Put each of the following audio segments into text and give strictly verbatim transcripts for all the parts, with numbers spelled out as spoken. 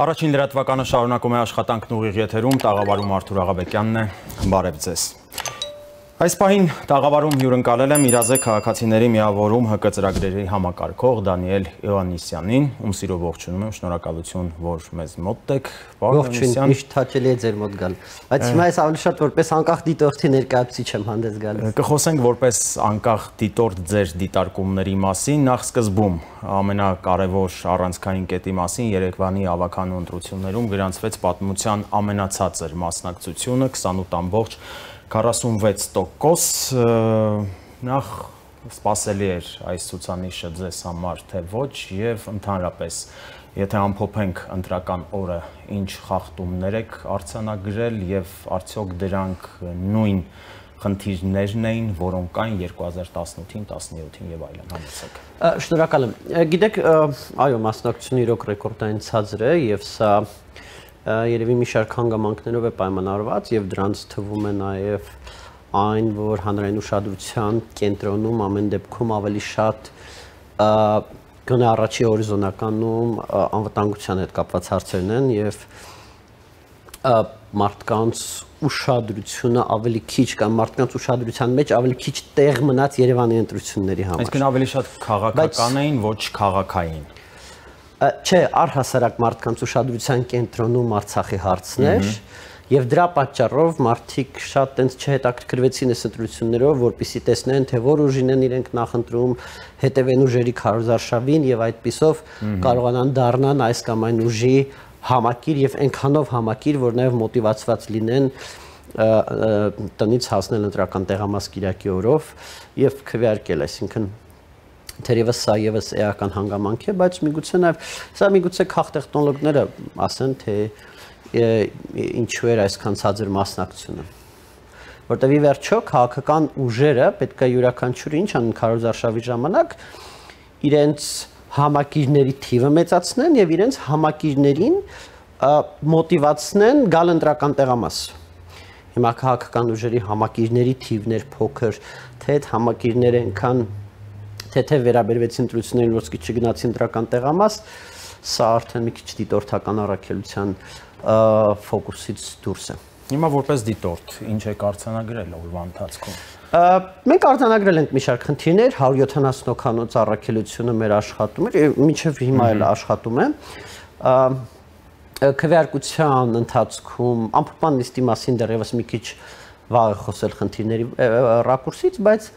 Առաջին լրատվականը շարունակում է աշխատանքն ուղիղ եթերում, տաղավարում Արթուր Աղաբեկյանն է, բարև ձեզ։ Այս պահին տաղավարում հյուրընկալել եմ իրազեկ քաղաքացիների միավորում ՀԿ ծրագրերի համակարգող Դանիել Իոաննիսյանին, ում սիրով ողջունում եմ, շնորհակալություն, որ մեզ մոտ եք։ Ողջույն, միշտ հաճելի է ձեր մոտ գալ։ Բայց հիմա ես ավելի շատ որպես անկախ դիտորդի ներկայացուցիչ եմ հանդես գալիս։ Կխոսենք որպես անկախ դիտորդ ձեր դիտարկումների մասին, նախ սկզբում ամենակարևոր առանցքային կետի մասին Երևանի ավականու ընտրություններում գրանցվեց պատմության ամենացածր մասնակցությունը քսանութ ամբողջ քառասունվեց տոկոս, նախ սպասելի էր այս ցուցանիշը ձեզ համար թե ոչ եւ ընդհանրապես եթե ամփոփենք ընտրական օրը ինչ խախտումներ եք արձանագրել եւ արդյոք դրանք նույն խնդիրներն էին, որոնք կային երկու հազար տասնութին, տասնյոթին եւ այլն, համեցեք։ Շնորհակալ եմ։ Գիտեք, այո, մասնակցությունը իրոք ռեկորդային ցածր է եւ սա երևի մի շարք հանգամանքներով է պայմանավորված եւ դրանց թվում է նաեւ այն, որ հանրային ուշադրության կենտրոնում ամեն դեպքում ավելի շատ գոնե առաջի հորիզոնականում անվտանգության հետ կապված հարցերն են եւ մարդկանց ուշադրությունը ավելի քիչ կամ մարդկանց ուշադրության մեջ ավելի քիչ տեղ մնաց Երևանի ընտրությունների համար։ Այսինքն ավելի շատ քաղաքական էին, ոչ քաղաքային։ Չէ, առհասարակ մարդկանց ուշադրության կենտրոնում Արցախի հարցն էր եւ դրա պատճառով մարդիկ շատ տենց չհետաքրքրվեցին այս ընտրություններով, որպեսզի տեսնեն, թե որ ուժին են իրենք նախընտրում, հետևեն ուժերի քարոզարշավին եւ այդպիսով կարողանան դառնան այս կամ այն ուժի համակիր եւ այնքանով համակիր, որ նաեւ մոտիվացված լինեն տնից հասնել ընտրական տեղամաս Կիրակի օրով եւ քվեարկել, այսինքն թերևս սա եւս էական հանգամանք է, բայց միգուցե նաեւ սա միգուցե քաղտեխնոլոգները ասեն, թե ինչու էր այսքան ցածր մասնակցությունը։ Որտեւ ի վերջո քաղաքական ուժերը պետք է յուրաքանչյուրը ինչ անեն քարոզարշավի ժամանակ իրենց համակիրների թիվը մեծացնեն եւ իրենց համակիրներին մոտիվացնեն գալ ընտրական տեղամաս։ Հիմա քաղաքական ուժերի համակիրների թիվն էր փոքր, թե այդ համակիրները այնքան թեթև վերաբերվեցին ընտրություններին, որ սկիչ չգնացին ընտրական տեղամաս, սա արդեն մի քիչ դիտորդական առաքելության ֆոկուսից դուրս է։ Հիմա որպես դիտորդ, ինչ եք արձանագրել օրվա ընթացքում։ Մենք արձանագրել ենք մի շարք խնդիրներ, հարյուր յոթանասուն հոգանոց առաքելությունը մեր աշխատում էր, մինչև հիմա էլ աշխատում է։ Քվեարկության ընթացքում ամփոփման նիստի մասին դեռևս մի քիչ վաղ է խոսել խնդիրների ռակուրսից, բայց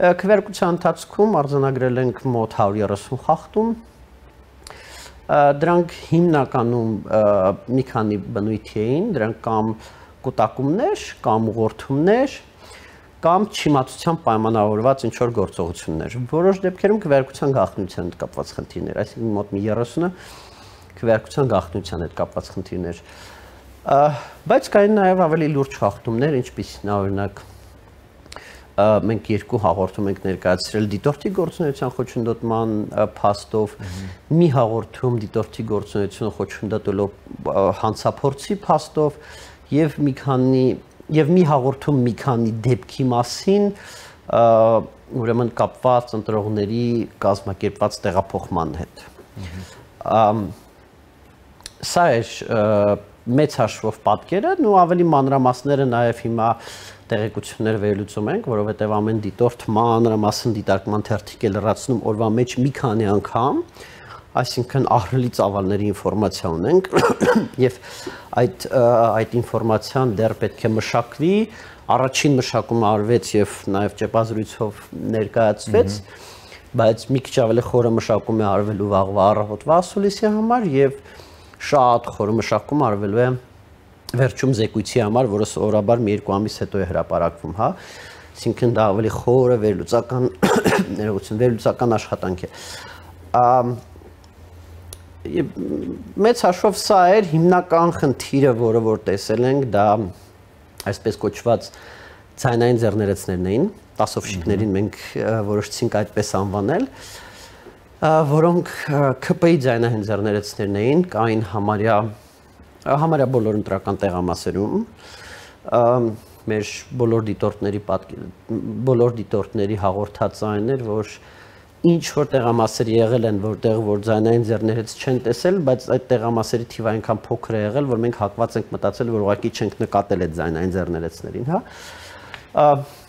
քվեարկության ընթացքում արձանագրել ենք մոտ հարյուր երեսուն խախտում։ Դրանք հիմնականում մի քանի բնույթի էին, դրանք կամ կուտակումներ, կամ ուղղորդումներ, կամ չիմացության պայմանավորված ինչ-որ գործողություններ։ Որոշ դեպքերում քվեարկության գաղտնիության հետ կապված խնդիրներ, այսինքն մոտ մի երեսունը քվեարկության գաղտնիության հետ կապված խնդիրներ։ Բայց կային նաև ավելի լուրջ խախտումներ, ինչպիսին օրինակ մենք երկու հաղորդում ենք ներկայացրել դիտորդի գործունեության խոչընդոտման փաստով, մի հաղորդում դիտորդի գործունեությունը խոչընդոտելով հանցափորձի փաստով եւ մի քանի եւ մի հաղորդում մի քանի դեպքի մասին, ուրեմն կապված ընտրողների կազմակերպված տեղափոխման հետ։ Սա էր մեծ հաշվով պատկերը, ու ավելի մանրամասները նաեւ հիմա տեղեկություններ վերլուծում ենք, որովհետև ամեն դիտորդ մանրամասն դիտարկման թերթիկ է լրացնում օրվա մեջ մի քանի անգամ, այսինքն ահռելի ծավալների ինֆորմացիա ունենք եւ այդ այդ ինֆորմացիան դեռ պետք է մշակվի, առաջին մշակումը արվեց եւ նաեւ ճեպազրույցով ներկայացվեց, բայց մի քիչ ավելի խորը մշակում է արվելու վաղվա առավոտվա ասուլիսի համար եւ շատ խորը մշակում արվելու է վերջում զեկույցի համար, որը սովորաբար մի երկու ամիս հետո է հրապարակվում, հա, այսինքն դա ավելի խորը վերլուծական ներողություն, վերլուծական աշխատանք է։ Մեծ հաշվով սա էր հիմնական խնդիրը, որը որ տեսել ենք, դա այսպես կոչված ձայնային ձեռներեցներն էին, տասովշիկներին մենք որոշեցինք այդպես անվանել, որոնք ՔՊ-ի ձայնային ձեռներեցներն էին, կային համարյա համարյա բոլոր ընտրական տեղամասերում, մեր բոլոր դիտորդների բոլոր դիտորդների հաղորդած այն էր, որ ինչ որ տեղամասեր եղել են, որտեղ որ ձայնային ձեռներից չեն տեսել, բայց այդ տեղամասերի թիվը այնքան փոքր է եղել, որ մենք հակված ենք մտածել, որ ուղղակի չենք նկատել այդ ձայնային ձեռներեցներին, հա։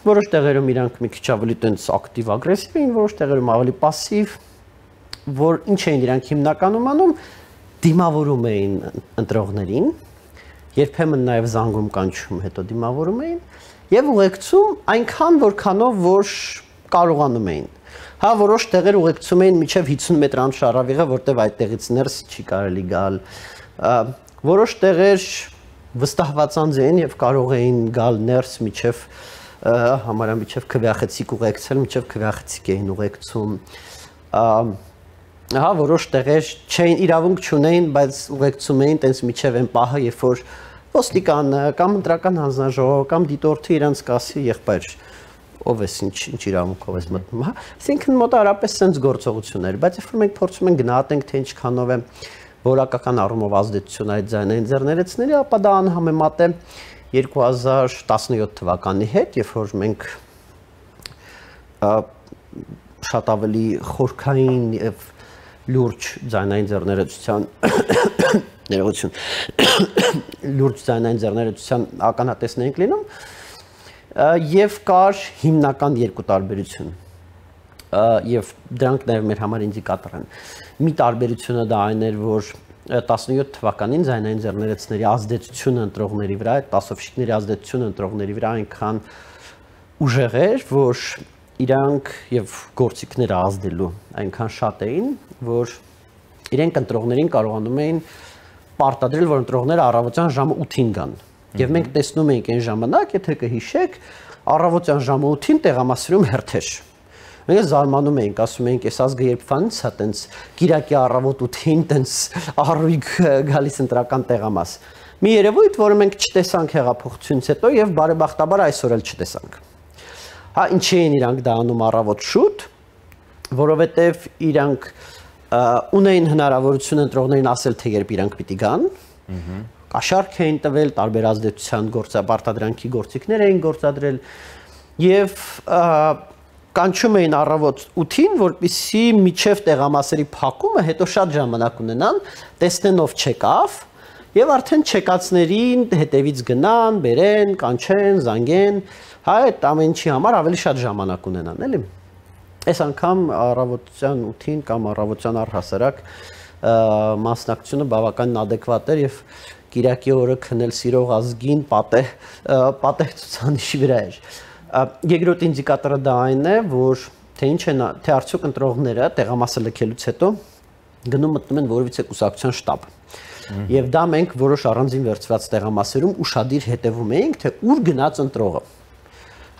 Որոշ տեղերում իրանք մի քիչ ավելի տենց ակտիվ ագրեսիվ էին, որոշ տեղերում ավելի пассив, որ ինչ էին իրանք հիմնականում անում, դիմավորում էին ընտրողներին, երբեմն նաև զանգում կանչում, հետո դիմավորում էին եւ ուղեկցում այնքան որքանով որ կարողանում էին։ Հա, որոշ տեղեր ուղեկցում էին մինչև հիսուն մետր անշարավիղը, որտեղ այդտեղից ներս չի կարելի գալ։ Որոշ տեղեր վստահված անձ էին եւ կարող էին գալ ներս մինչև համարյա մինչև քվեախցիկ ուղեկցել, մինչև քվեախցիկ էին ուղեկցում։ Ահա որոշ տեղեր չէին իրավունք չունեին, բայց ուղեկցում էին տենց մինչև այն պահը, երբ որ ոստիկանը կամ ընտրական հանձնաժողով կամ դիտորդը իրանց կասի եղբայր ով ես ինչ ինչ իրավունքով ես մտնում, հա։ Այսինքն մոտարապես sense գործողություններ, բայց երբ որ մենք փորձում ենք գնահատենք թե ինչքանով է որակական առումով ազդեցություն այդ ձայնային ձեռներեցների, ապա դա անհամեմատ է երկու հազար տասնյոթ թվականի հետ, երբ որ մենք շատ ավելի խորքային եւ լուրջ ձայնային ձեռներեցության ներողություն լուրջ ձայնային ձեռներեցության ականատեսներ ենք լինում եւ կար հիմնական երկու տարբերություն եւ դրանք նաեւ մեր համար ինդիկատոր են։ Մի տարբերությունը դա այն էր, որ տասնյոթ թվականին ձայնային ձեռներեցների ազդեցությունը ընտրողների վրա, այդ տասովշիկների ազդեցությունը ընտրողների վրա այնքան ուժեղ էր, որ իրանք եւ գործիքները ազդելու այնքան շատ էին, որ իրենք ընտրողներին կարողանում էին պարտադրել, որ ընտրողները առավոտյան ժամը ութին գան։ Եվ մենք տեսնում էինք այն ժամանակ, եթե կհիշեք, առավոտյան ժամը ութին տեղամասերում հերթեր։ Մենք զարմանում էինք, ասում էինք, այս ազգը երբ վանից է տենց Կիրակի առավոտ ութին տենց առույգ գալիս ընտրական տեղամաս։ Մի երևույթ, որը մենք չտեսանք հեղափոխությունից հետո եւ բարեբախտաբար այսօր էլ չտեսանք։ Հա, ինչի էին իրանք դա անում առավոտ շուտ, որովհետեւ իրանք ունեին հնարավորություն ընտրողներին ասել, թե երբ իրանք պիտի գան։ Կաշառք էին տվել, տարբեր ազդեցության գործապարտադրանքի գործիքներ էին գործադրել եւ կանչում էին առավոտ ութին, որպեսզի միջև տեղամասերի փակումը հետո շատ ժամանակ ունենան, տեսնեն ով չեկավ եւ արդեն չեկածներին հետևից գնան, բերեն, կանչեն, զանգեն, հա այդ ամեն ինչի համար ավելի շատ ժամանակ ունենան, էլի։ Այս անգամ առավոտյան ութին կամ առավոտյան առհասարակ մասնակցությունը բավականին adekvat էր եւ Կիրակի օրը քնել սիրող ազգին պատեհ պատեհ ցուցանիշի վրա էր։ Երկրորդ ինդիկատորը դա այն է, որ թե ինչ են թե արդյոք ընտրողները տեղամասը լքելուց հետո գնում մտնում են որևիցե կուսակցության շտաբ։ Եվ դա մենք որոշ առանձին վերցված տեղամասերում ուշադիր հետևում էինք, թե ուր գնաց ընտրողը։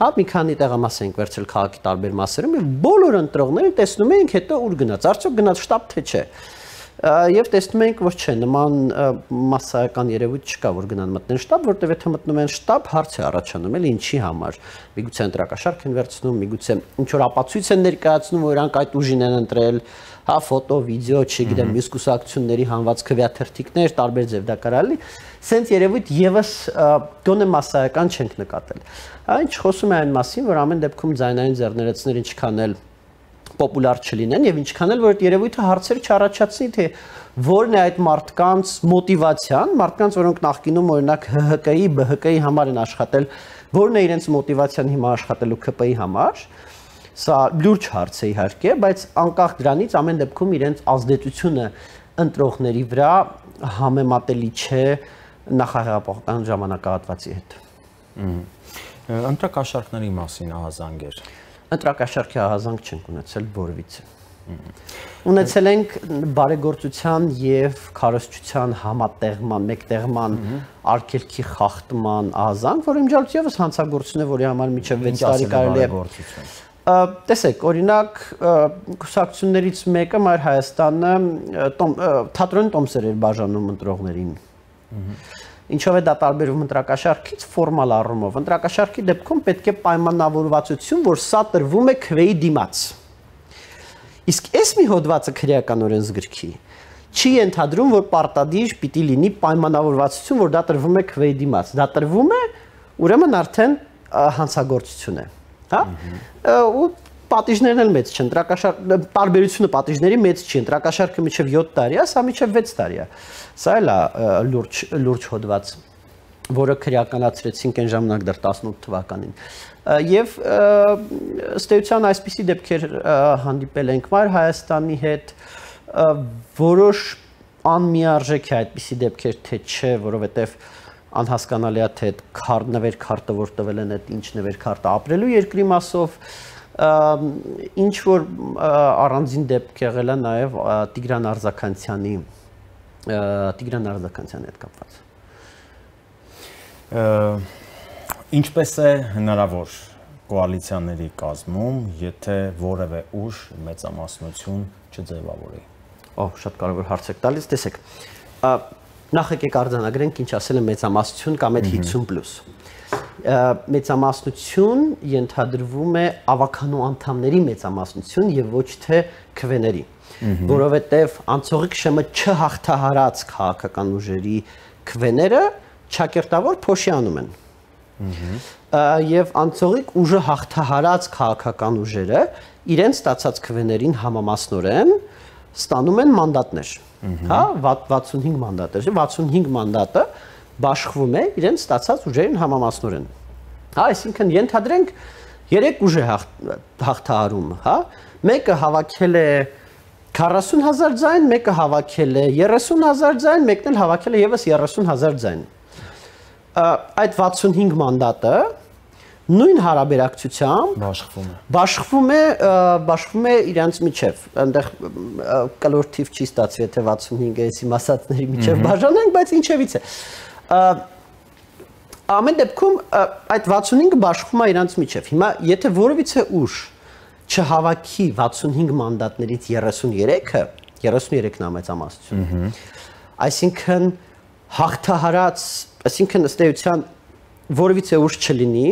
Հա մի քանի տեղամաս ենք վերցրել քաղաքի տարբեր մասերում եւ բոլոր ընտրողները տեսնում էինք հետո ուր գնաց, արդյոք գնաց շտաբ թե չէ։ Եվ տեսնում ենք, որ չէ, նման մասսայական երևույթ չկա, որ գնան մտնեն շտաբ, որտեղ եթե մտնում են շտաբ, հարց է առաջանում, էլի ինչի համար։ Միգուցե ընտրակաշարք են վերցնում, միգուցե ինչ որ ապացույց են ներկայացնում, որ իրանք այդ ուժին են ընտրել, հա, ֆոտո, վիդեո, չգիտեմ, մյուս կուսակցությունների հանված քվեաթերթիկներ, տարբեր ձև դա կարելի, սենց երևույթ եւս գոնե մասսայական չենք նկատել։ Այն խոսում է այն մասին, որ ամեն դեպքում ձայնային ձեռներեցներ ինչքան էլ պոպուլար չլինեն եւ ինչքան էլ որ այդ երևույթը հարցեր չառաջացնի, թե որն է այդ մարդկանց մոտիվացիան, մարդկանց, որոնք նախկինում օրինակ Հ Հ Կ-ի, B Հ Կ-ի համար են աշխատել, որն է իրենց մոտիվացիան հիմա աշխատելու K P-ի համար։ Սա լուրջ հարց է իհարկե, բայց անկախ դրանից ամեն դեպքում իրենց ազդեցությունը ընտրողների վրա համեմատելի չէ նախահեղափոխական ժամանակահատվածի հետ։ Ընտրակաշարքների մասին ահազանգեր։ Ընտրակաշարքի ահազանգ չենք ունեցել որևիցե։ Ունեցել ենք բարեգործության եւ քարոզչության համատեղման, մեկտեղման, արգելքի խախտման ահազանգ, որը իմջալուց եւս հանցագործություն է, որի համար միջև վեց տարի կարելի է։ Տեսեք, օրինակ կուսակցություններից մեկը Մայր Հայաստանը թատրոնի տոմսեր էր բաժանում ընտրողներին։ Ինչով է դա տարբերվում ընտրակաշարքից ֆորմալ առումով։ Ընտրակաշարքի դեպքում պետք է պայմանավորվածություն, որ սա տրվում է քվեի դիմաց։ Իսկ այս մի հոդվածը քրեական օրենսգրքի չի ենթադրում, որ պարտադիր պիտի լինի պայմանավորվածություն, որ դա տրվում է քվեի դիմաց։ Դա տրվում է, ուրեմն արդեն հանցագործություն է, հա։ Ու պատիժներն էլ մեծ չեն, ընտրակաշարք տարբերությունը պատիժների մեծ չի, ընտրակաշարքը մինչև յոթ տարի է, սա մինչև վեց տարի է։ Սա էլ է լուրջ լուրջ հոդված, որը քրեականացրեցինք այն ժամանակ դեռ տասնութ թվականին։ Եվ ըստ էության այսպիսի դեպքեր հանդիպել ենք Մայր Հայաստանի հետ, որոշ անմիարժեք է այդպիսի դեպքեր, թե չէ, որովհետև անհասկանալի է, թե այդ նվեր քարտը, որ տվել են, այդ ինչ նվեր քարտը ապրելու երկրի մասով, ինչ որ առանձին դեպք եղել է նաև Տիգրան Արձականցյանի Տիգրան Արձականցյանի հետ կապված։ Ինչպես է հնարավոր կոալիցիաների կազմում, եթե որևէ ուժ մեծամասնություն չձևավորի։ Օ, շատ կարևոր հարց եք տալիս, տեսեք։ Նախ եկեք արձանագրենք, ինչ ասել է մեծամասնություն կամ այդ հինգսուն պլյուս։ Մեծամասնություն ենթադրվում է ավականու անդամների մեծամասնություն եւ ոչ թե քվեների, որովհետեւ անցողիկ շեմը չհաղթահարած քաղաքական ուժերի քվեները ճակերտավոր փոշիանում են։ Եվ անցողիկ ուժը հաղթահարած քաղաքական ուժերը իրենց ստացած քվեներին համամասնորեն ստանում են մանդատներ, հա, վաթսունհինգ մանդատներ, վաթսունհինգ մանդատը բաշխվում է իրենց ստացած ուժերին համամասնորեն։ Հա, այսինքն ենթադրենք երեք ուժ է հաղթահարում, հա, մեկը հավաքել է քառասուն հազար ձայն, մեկը հավաքել է երեսուն հազար ձայն, մեկն էլ հավաքել է եւս երեսուն հազար ձայն։ Այդ վաթսունհինգ մանդատը նույն հարաբերակցությամբ բաշխվում է բաշխվում է բաշխվում է իրանց միջև, այնտեղ կլոր թիվ չի ստացվի, եթե վաթսունհինգը էսի մասածների միջև բաժանենք, բայց ինչևից է։ Ամեն դեպքում այդ վաթսունհինգը բաշխվում է իրանց միջև։ Հիմա եթե որևիցե ուժ չհավաքի վաթսունհինգ մանդատներից երեսուներեքը, երեսուներեքն է մեծամասնություն։ Այսինքն հաղթահարած, այսինքն ըստ էության որևիցե ուժ չլինի,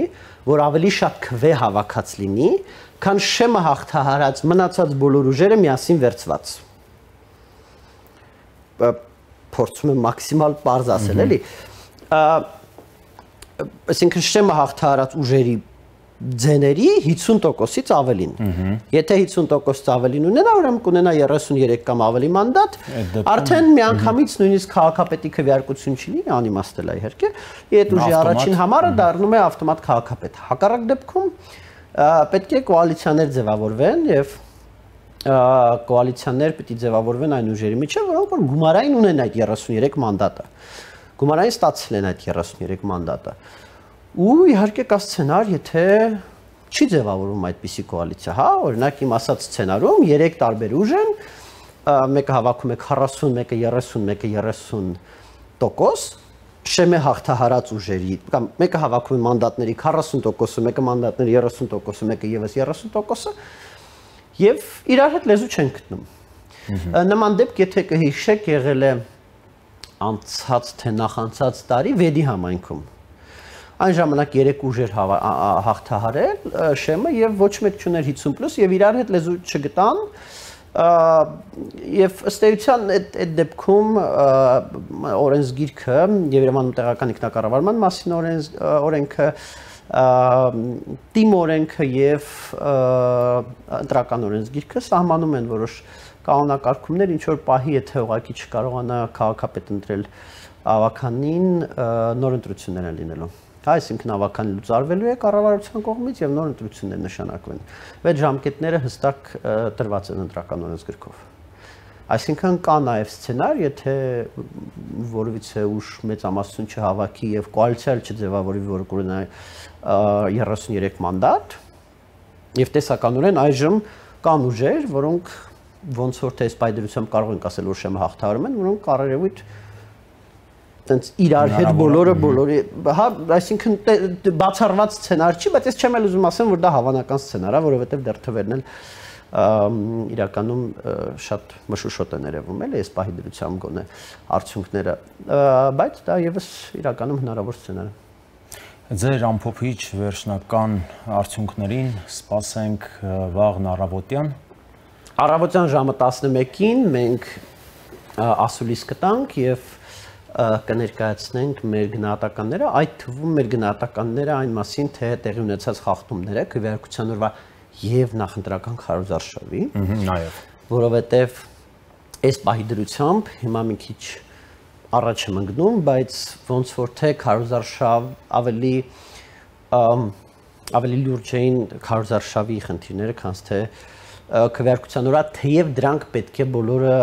որ ավելի շատ քվե հավաքած լինի, քան շեմը հաղթահարած մնացած բոլոր ուժերը միասին վերցված։ Փորձում եմ մաքսիմալ պարզ ասել, էլի։ Այսինքն շեմը հաղթահարած ուժերի ձեների հինգսուն տոկոսից ավելին։ Եթե հինգսուն տոկոսից ավելին ունենա, ուրեմն կունենա երեսուներեք կամ ավելի մանդատ, արդեն միանգամից նույնիսկ քաղաքապետի քվեարկություն չի լինի, անիմաստ է իհարկե, այդ ուժի առաջին համարը դառնում է ավտոմատ քաղաքապետ։ Հակառակ դեպքում պետք է կոալիցիաներ ձևավորվեն եւ կոալիցիաներ պետք է ձևավորվեն այն ուժերի միջև, որոնք որ գումարային ունեն այդ երեսուներեք մանդատը։ Գումարային ստացել են այդ երեսուներեք մանդատը։ Ու իհարկե կա սցենար, եթե չի ձևավորվում այդպիսի կոալիցիա, հա, օրինակ իմ ասած սցենարում երեք տարբեր ուժ են, մեկը հավաքում է քառասուն, մեկը երեսուն, մեկը երեսուն տոկոս, շեմե հաղթահարած ուժերի, կամ մեկը հավաքում է մանդատների քառասուն տոկոսը, մեկը մանդատների երեսուն տոկոսը, մեկը եւս երեսուն տոկոսը, եւ իրար հետ լեզու չեն գտնում։ Նման դեպք, եթե կհիշեք, եղել է անցած թե նախանցած տարի վեդի համայնքում։ Այն ժամանակ երեք ուժեր հաղթահարել շեմը եւ ոչ մեկ չուներ հինգսուն պլյուս եւ իրար հետ լեզու չգտան եւ ըստ էության այդ դեպքում օրենսգիրքը Երևանում տեղական ինքնակառավարման մասին օրենքը տիմ օրենքը եւ ընտրական օրենսգիրքը սահմանում են որոշ կանոնակարգումներ, ինչ որ պահի եթե ուղղակի չկարողանա քաղաքապետ ընտրել ավականին, նոր ընտրություններ են լինելու։ Այսինքն ավականին լուծարվելու է կառավարության կողմից եւ նոր ընտրություններ նշանակվեն։ Այդ ժամկետները հստակ տրված են ընտրական օրենսգրքով։ Այսինքն կա նաեւ սցենար, եթե որևիցե ուժ մեծամասնություն չհավաքի եւ կոալիցիա չձևավորի, որ կունենա երեսուներեք մանդատ, եւ տեսականորեն այժմ կան ուժեր, որոնք ոնց որ թե սպայդերությամբ կարող ենք ասել, որ շեմը հաղթահարում են, որոնք կարևույթ տենց իրար հետ բոլորը բոլորի, հա, այսինքն բացառված սցենար չի, բայց ես չեմ էլ ուզում ասեմ, որ դա հավանական սցենար է, որովհետև դեռ թվերն էլ իրականում շատ մշուշոտ են երևում, էլի, այս պահի դրությամբ գոնե արդյունքները, բայց դա եւս իրականում հնարավոր սցենար է։ Ձեր ամփոփիչ վերջնական արդյունքներին սպասենք վաղն առավոտյան։ Առավոտյան ժամը տասնմեկին մենք ասուլիս կտանք եւ կներկայացնենք մեր գնահատականները, այդ թվում մեր գնահատականները այն մասին, թե տեղի ունեցած խախտումները քվեարկության օրվա եւ նախընտրական քարոզարշավի, նաեւ, որովհետեւ այս պահի դրությամբ հիմա մի քիչ առաջ եմ ընկնում, բայց ոնց որ թե քարոզարշավ ավելի ավելի լուրջ էին քարոզարշավի խնդիրները, քան թե քվեարկության վրա, թեև դրանք պետք է բոլորը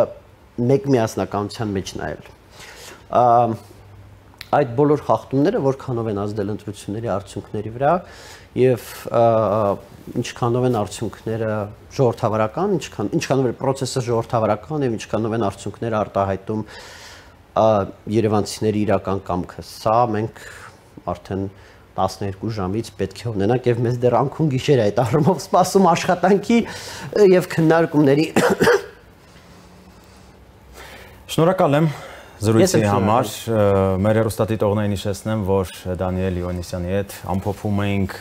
մեկ միասնականության մեջ նայել։ Այդ բոլոր խախտումները որքանով են ազդել ընտրությունների արդյունքների վրա եւ ինչքանով են արդյունքները ժողովրդավարական, ինչքան ինչքանով է process-ը ժողովրդավարական եւ ինչքանով են արդյունքները արտահայտում երևանցիների իրական կամքը։ Սա մենք արդեն տասներկու ժամից պետք է ունենանք եւ մեզ դեռ անքուն գիշեր այդ առումով սպասում աշխատանքի եւ քննարկումների։ Շնորհակալ եմ զրույցի համար, մեր հեռուստադիտողներին հիշեցնեմ, որ Դանիել Իոնիսյանի հետ ամփոփում էինք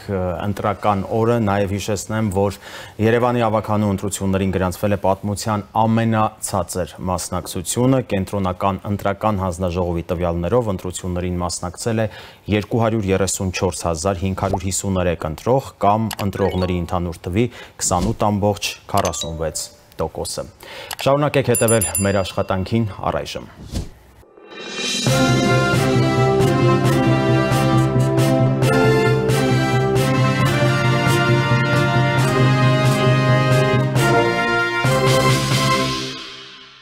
ընտրական օրը, նաև հիշեցնեմ, որ Երևանի ավագանու ընտրություններին գրանցվել է պատմության ամենացածր մասնակցությունը, կենտրոնական ընտրական հանձնաժողովի տվյալներով ընտրություններին մասնակցել է երկու հարյուր երեսունչորս հազար հինգ հարյուր հիսուներեք ընտրող կամ ընտրողների ընդհանուր թվի քսանութ ամբողջ քառասունվեց տոկոսը։ Շարունակեք հետևել մեր աշխատանքին առայժմ։